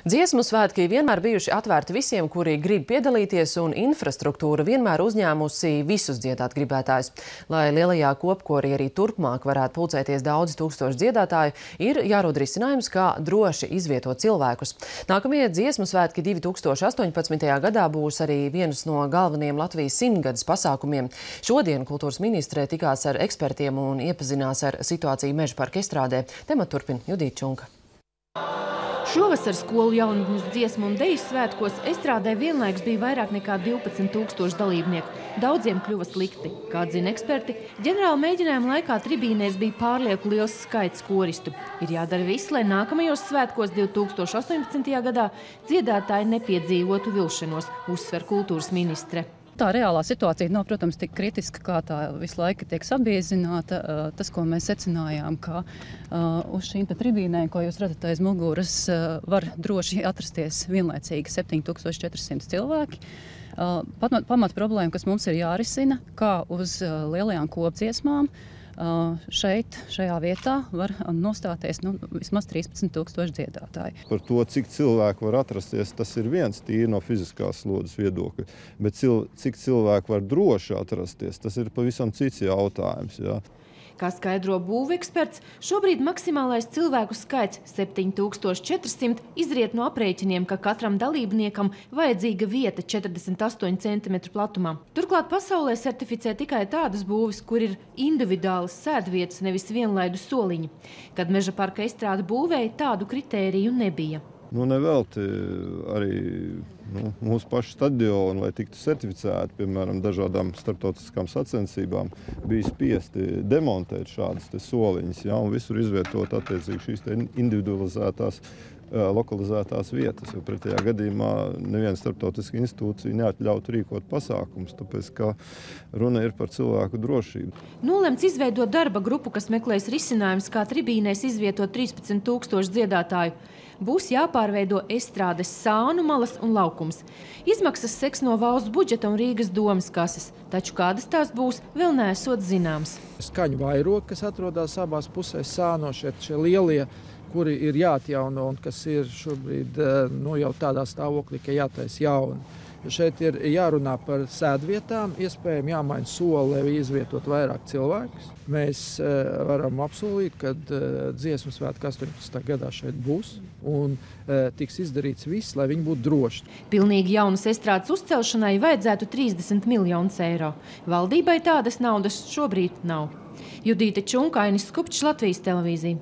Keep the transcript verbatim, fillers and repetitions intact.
Dziesmu svētki vienmēr bijuši atvērti visiem, kuri grib piedalīties, un infrastruktūra vienmēr uzņēmusi visus dziedāt gribētājus. Lai lielajā kopkorī arī turpmāk varētu pulcēties daudzi tūkstoši dziedātāju, ir jārod risinājums, kā droši izvietot cilvēkus. Nākamie dziesmu svētki divi tūkstoši astoņpadsmitajā gadā būs arī viens no galvenajiem Latvijas simtgades pasākumiem. Šodien kultūras ministre tikās ar ekspertiem un iepazinās ar situāciju Mežaparka estrādē. Tematu turpina Judīta Čunka. Šovasar skolu jaunatnes dziesmu un deju svētkos estrādē vienlaikus bija vairāk nekā divpadsmit tūkstoši dalībnieku. Daudziem kļuva slikti. Kā atzina eksperti, ģenerāla mēģinājuma laikā tribīnēs bija pārlieku liels skaits koristu. Ir jādara viss, lai nākamajos svētkos divi tūkstoši astoņpadsmitajā gadā dziedātāji nepiedzīvotu vilšanos, uzsver kultūras ministre. Tā reālā situācija nav, protams, tik kritiska, kā tā visu laiku tiek sabiezināta. Tas, ko mēs secinājām, ka uz šīm tribīnēm, ko jūs redzat aiz muguras, var droši atrasties vienlaicīgi septiņi tūkstoši četri simti cilvēki. Pamat problēma, kas mums ir jārisina, kā uz lielajām kopdziesmām, šeit, šajā vietā var nostāties nu, vismaz trīspadsmit tūkstoši dziedātāji. Par to, cik cilvēku var atrasties, tas ir viens tīri no fiziskās slodzes viedokļa. Bet cil, cik cilvēku var droši atrasties, tas ir pavisam cits jautājums. Jā. Kā skaidro būveksperts, šobrīd maksimālais cilvēku skaits septiņi tūkstoši četri simti izriet no aprēķiniem, ka katram dalībniekam vajadzīga vieta četrdesmit astoņi centimetri platumā. Turklāt pasaulē certificē tikai tādas būves, kur ir individuālas sēdvietas, nevis vienlaidu soliņi. Kad Mežaparka estrāde būvēja, tādu kritēriju nebija. Nu, nevelti arī nu, mūsu pašu stadioni, lai tiktu certificēti, piemēram, dažādām starptautiskām sacensībām, bija spiesti demontēt šādas te soliņas, ja, un visur izvietot attiecīgi šīs te individualizētās, lokalizētās vietas, jo pretējā gadījumā neviena starptautiska institūcija neatļautu rīkot pasākums, tāpēc, ka runa ir par cilvēku drošību. Nolemts izveidot darba grupu, kas meklēs risinājums, kā tribīnēs izvietot trīspadsmit tūkstoši dziedātāju. Būs jāpārveido estrādes sānu malas un laukums. Izmaksas seks no valsts budžeta un Rīgas domas kases, taču kādas tās būs, vēl neesot zināms. Skaņu vairogi, kas atrodas abās pusēs sāno, šie, šie lielie, kuri ir jāatjauno un kas ir šobrīd nu, jau tādā stāvoklī, ka jātais jauni. Šeit ir jārunā par sēdvietām, iespējami jāmaina soli, lai izvietot vairāk cilvēkus. Mēs varam apsolīt, ka dziesmu svētki astoņpadsmitajā gadā šeit būs un tiks izdarīts viss, lai viņi būtu droši. Pilnīgi jaunas estrādes uzcelšanai vajadzētu trīsdesmit miljonus eiro. Valdībai tādas naudas šobrīd nav. Judīta Čunka, Ainis Skupčs, Latvijas televīzija.